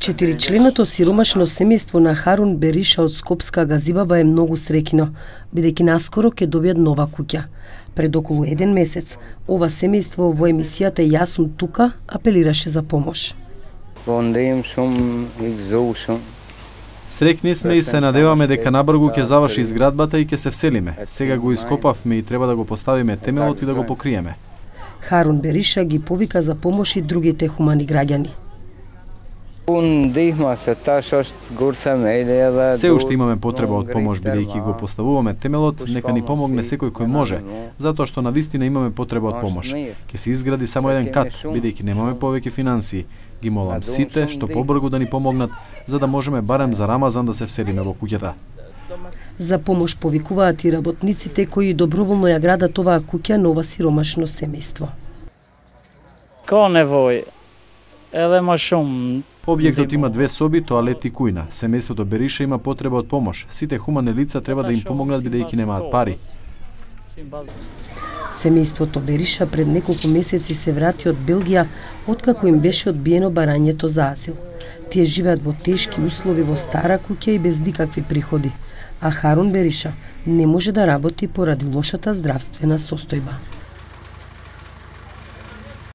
Четиричленото сиромашно семејство на Харун Бериша од Скопска Газибаба е многу среќно, бидејќи наскоро ќе добијат нова куќа. Пред околу 1 месец, ова семејство во емисијата Јас сум тука апелираше за помош. Среќни сме и се надеваме дека набрзо ќе заврши изградбата и ќе се вселиме. Сега го ископавме и треба да го поставиме темелот и да го покриеме. Харун Бериша ги повика за помош и другите хумани граѓани. Се уште имаме потреба од помош, бидејќи го поставуваме темелот, нека ни помогне секој кој може, затоа што навистина имаме потреба од помош. Ќе се изгради само еден кат, бидејќи немаме повеќе финансии. Ги молам сите што побрзо да ни помогнат, за да можеме барем за Рамазан да се вселиме во куќата. За помош повикуваат и работниците кои доброволно ја градат оваа куќа на ова сиромашно семејство. Објектот има 2 соби, тоалет и кујна. Семејството Бериша има потреба од помош. Сите хумани лица треба да им помогнат бидејќи немаат пари. Семејството Бериша пред неколку месеци се врати од Белгија откако им беше одбиено барањето за азил. Тие живеат во тешки услови во стара куќа и без никакви приходи, а Харун Бериша не може да работи поради лошата здравствена состојба.